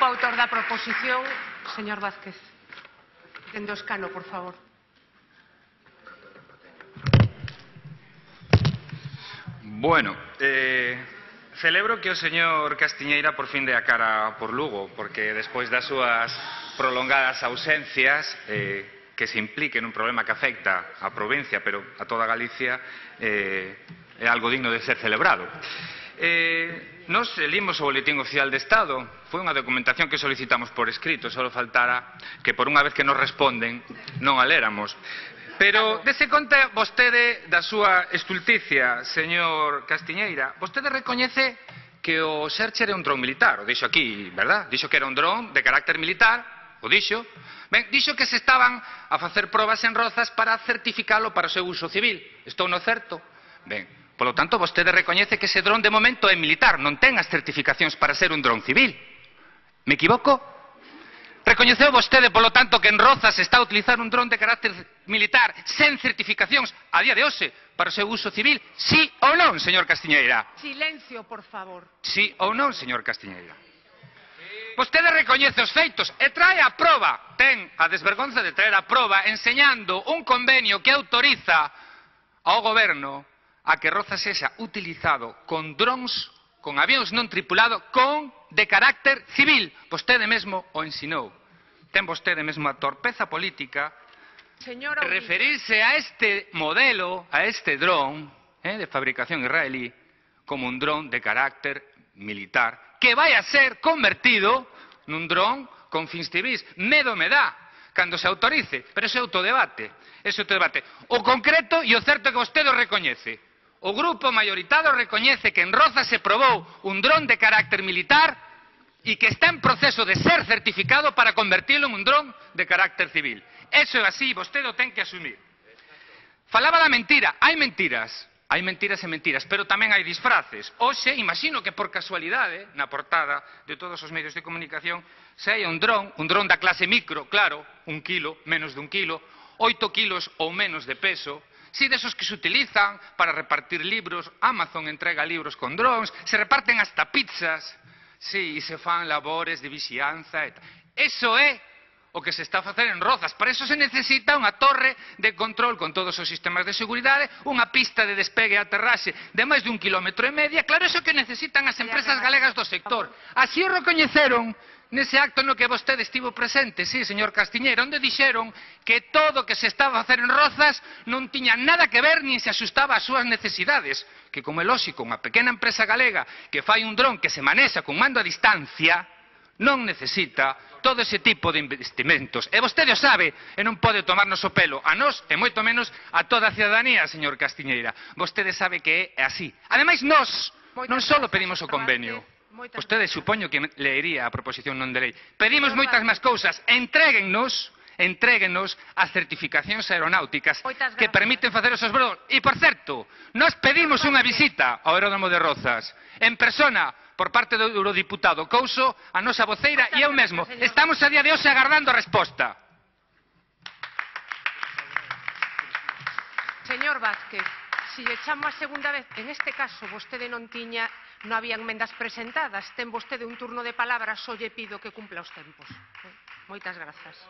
grupo autor da proposición, señor Vázquez. Dende o escano, por favor. Bueno, celebro que o señor Castiñeira por fin dé a cara por Lugo, porque despois das súas prolongadas ausencias, que se implique nun problema que afecta á provincia, pero a toda Galicia, é algo digno de ser celebrado. Nos limos o boletín oficial de Estado, foi unha documentación que solicitamos por escrito, só faltara que por unha vez que nos responden non a léramos. Pero dese conta vostede da súa estulticia, señor Castiñeira. Vostede recoñece que o Searcher é un dron militar, o dixo aquí, verdad? Dixo que era un dron de carácter militar, o dixo. Ben, dixo que se estaban a facer probas en Rozas para certificalo para o seu uso civil. Estou no certo? Ben, polo tanto, vostede recoñece que ese dron de momento é militar, non ten as certificacións para ser un dron civil. Me equivoco? Recoñeceu vostede, polo tanto, que en Rozas se está a utilizar un dron de carácter militar sen certificacións a día de hoxe para o seu uso civil? Sí ou non, señor Castiñeira? Silencio, por favor. Sí ou non, señor Castiñeira? Vostede recoñece os feitos e trae a proba, ten a desvergonza de traer a proba enseñando un convenio que autoriza ao goberno a que Rozas sexa utilizado con drons, con avións non tripulados, de carácter civil. Vostede mesmo o ensinou. Ten vostede mesmo a torpeza política de referirse a este modelo, a este dron de fabricación israelí, como un dron de carácter militar, que vai a ser convertido nun dron con fins civis. Medo me dá cando se autorice, pero ese é outro debate. O concreto e o certo é que vostede o recoñece. O grupo maioritario recoñece que en Rozas se probou un dron de carácter militar e que está en proceso de ser certificado para convertirlo en un dron de carácter civil. Eso é así, vostede o ten que asumir. Falaba da mentira. Hai mentiras e mentiras, pero tamén hai disfraces. Hoxe, imagino que por casualidade, na portada de todos os medios de comunicación, se hai un dron da clase micro, claro, 1 kilo, menos de 1 kilo, 8 kilos ou menos de peso. Si, desos que se utilizan para repartir libros, Amazon entrega libros con drones, se reparten hasta pizzas, si, e se fan labores de vixianza e tal. Eso é o que se está a facer en Rozas. Para eso se necesita unha torre de control con todos os sistemas de seguridade, unha pista de despegue e aterraxe de máis de 1,5 km. Claro, eso que necesitan as empresas galegas do sector. Así o recoñeceron nese acto no que vostede estivo presente, sí, señor Castiñeira, onde dixeron que todo o que se estaba a facer en Rozas non tiña nada que ver nin se axustaba ás súas necesidades, que como é lóxico, unha pequena empresa galega que fai un dron que se manexa con mando a distancia non necesita todo ese tipo de investimentos. E vostede o sabe e non pode tomarnos o pelo a nós e moito menos a toda a cidadanía, señor Castiñeira. Vostede sabe que é así. Ademais, nós non só pedimos o convenio. Vostede supoño que leería a proposición non de lei. Pedimos moitas máis cousas. Entréguennos as certificacións aeronáuticas que permiten facer esos voos. E, por certo, nós pedimos unha visita ao aeródromo de Rozas en persona por parte do eurodiputado Couso, a nosa voceira e eu mesmo. Estamos a día de hoxe agardando a resposta. Señor Vázquez, si lle chamo a segunda vez, en este caso vostede non había enmendas presentadas, ten vostede un turno de palabra, só lle pido que cumpla os tempos. Moitas grazas.